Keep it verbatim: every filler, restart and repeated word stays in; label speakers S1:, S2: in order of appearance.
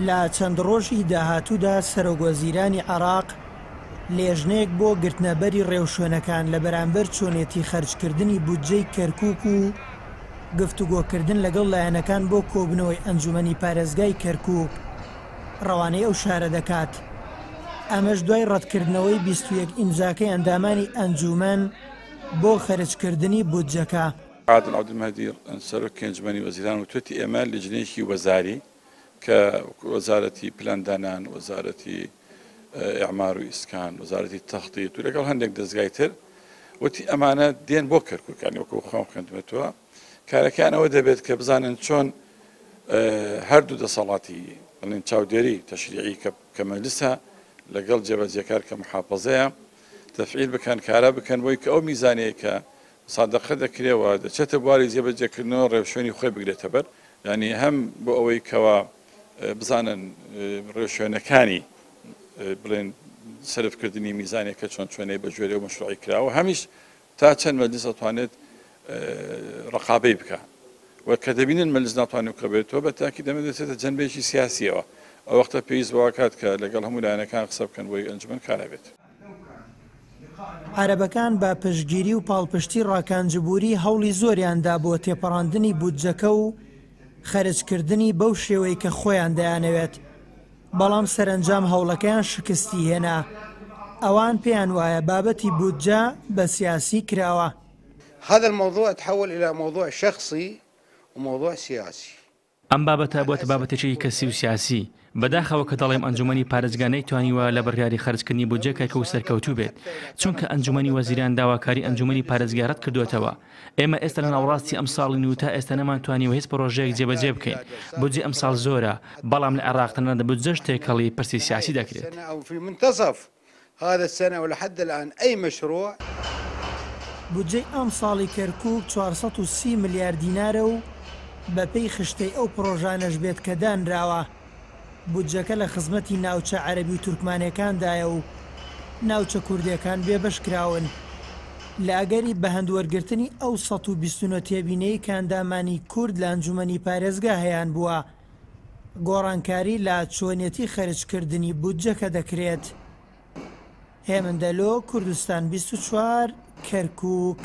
S1: لە چەند ڕۆژی داهاتوودا سەرۆکوەزیرانی عێراق لێژنەیەک بۆ گرتنەبەری ڕێوشوێنەکان لە بەرامبەر چۆنێتی خەرجکردنی بودجەی کەرکوک و گفتوگۆکردن لەگەڵ لایەنەکان بۆ کۆبنەوەی ئەنجومەنی پارێزگای کەرکوک ڕەوانەی ئەو شارە دەکات. ئەمەش دوای ڕەتکردنەوەی بیست و یەک ئیمزاکەی ئەندامانی ئەنجومەن بۆ خەرجکردنی بودجەکە.
S2: عادل عەبدولمەهدی سەرۆکی ئەنجومەنی وەزیران وتوێتی ئێمە لیژنەیەکی وەزاری کە وەزارەتی پلاندانان، وەزارەتی ئیعمار و ئیسکان، وەزارەتی تەخطیط و لەگەڵ هەندێک دەستگای تر وتی ئەمانە دێن بۆ کەرکوک، یعنی وەکو خۆم خوێندمێتەوە کارەکان ئەوە دەبێت کە بزانن چۆن هەردوو دەسەڵاتی بڵێن چاودێری تەشریعی کە مەجلسە لەگەڵ جێبەجێکار کە محافظەیە تەفعیل بکەن، کارا بکەن بۆی کە ئەو میزانەیە کە سادەقە دەکرێەوە دەچێتە بواری جێبەجێکردنەوە ڕێوشوێنی خۆی بگرێتە بەر، یعنی هەم بۆ ئەوەی کەوا بزانن ڕێوشوێنەکانی بڵێن سەرفکردنی میزانێک کە چۆن چۆنەی بە گوێرەی و مەشروعی کراوە، هەمیش تا چەند مەجلس ئەتوانێت ڕقابەی بکە و کە دەبینن مەجلس ناتوانێت بکەوێتەوە بە تاکی دەمە دەچێتە جەنبێکی سیاسیەوە. ئەو وەختە پێویست بەوە کات کە لەگەڵ هەموو لایەنەکان قسە بکەن بۆی ئەنجومەن کارا بێت.
S1: عەرەبەکان بە پشتگیری و پاڵپشتی ڕاکان جبوری هەوڵی زۆریاندا بۆ تێپەڕاندنی بودجەکە و خەرجکردنی بەو شێوەی کە خۆیان دەیانەوێت، بەڵام سەرەنجام هەوڵەکەیان شکستی هێنا. ئەوان پێیان وایە بابەتی بودجە بە سیاسی کراوە.
S3: هذا الموضوع تحول إلى موضوع شخصي وموضوع سياسي.
S4: ئەم بابەتە بۆتە بابەتێکی کەسی و سیاسی. بەداخەوە کە دەڵێم ئەنجومەنی پارێزگا نەیتوانیوە لە بڕیاری خەرجکردنی بودجە کەرکوک سەرکەوتوو بێت، چونکە ئەنجومەنی وەزیران داواکاری ئەنجومەنی پارێزگا ڕەت کردوێتەوە. ئێمە ئێستا لە ناوەڕاستی ئەم ساڵین و تا ئێستا نەمانتوانیوە هیچ پرۆژەیەک جێبەجێ بکەین. بودجە ئەم ساڵ زۆرە، بەڵام لە عێراق تەنانەت بودجەش تێکەڵی پرسی سیاسی دەکرێت.
S3: هذا السنة ولحد الآن أي مشروع.
S1: بودجەی ئەم ساڵی کەرکوک چوار سەد و سی ملیار دینارە و بەپێی خشتەی ئەو پرۆژانەش بێت کە دانراوە. بودجەکە لە خزمەتی ناوچە عەرەبی و تورکمانەکاندایە و ناوچە کوردیەکان بێبەش کراون. لە ئەگەری بەهەند وەرگرتنی ئەو سەد و بیست و نۆ تێبینەی کە ئەندامانی کورد لە ئەنجومەنی پارێزگا هەیان بووە، گۆڕانکاری لە چۆنیەتی خەرجکردنی بودجەکە دەکرێت. هێمن دەلۆ، کوردستان بیست و چوار، کەرکوک.